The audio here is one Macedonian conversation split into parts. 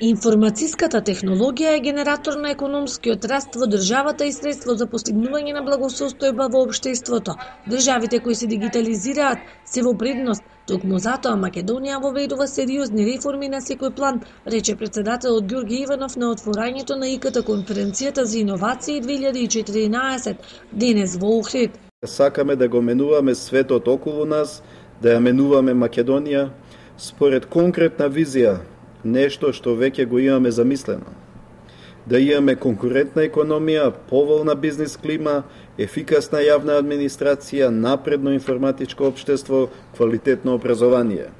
Информацијската технологија е генератор на економскиот раст во државата и средство за постигнување на благосостојба во општеството. Државите кои се дигитализираат се во предност, токму затоа Македонија воведува сериозни реформи на секој план, рече претседателот Ѓорѓе Иванов на отворањето на ИКТ конференцијата за иновации 2014 денес во Охрид. Сакаме да го менуваме светот околу нас, да ја менуваме Македонија според конкретна визија, нешто што веќе го имаме замислено. Да имаме конкурентна економија, поволна бизнис клима, ефикасна јавна администрација, напредно информатичко општество, квалитетно образование.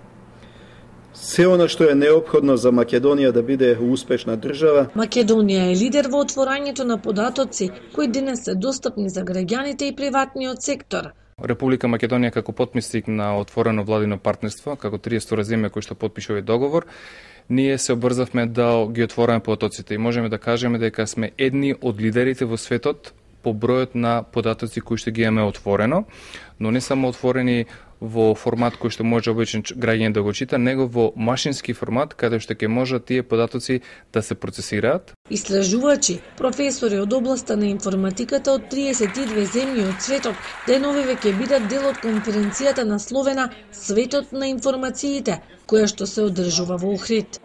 Се она што е неопходно за Македонија да биде успешна држава. Македонија е лидер во отворањето на податоци, кои денес се достапни за граѓаните и приватниот сектор. Република Македонија како потписник на отворено владино партнерство, како 30 земја кои што потпиша овој договор, ние се обрзавме да ги отвориме потоците и можеме да кажеме дека сме едни од лидерите во светот по бројот на податоци кои што ги имаме отворено, но не само отворени во формат кој што може обичен граѓанин да го чита, него во машински формат, каде што ќе можат тие податоци да се процесираат. Истражувачи, професори од областа на информатиката од 32 земји од светот деновиве ќе бидат дел од конференцијата насловена Светот на информациите, која што се одржува во Охрид.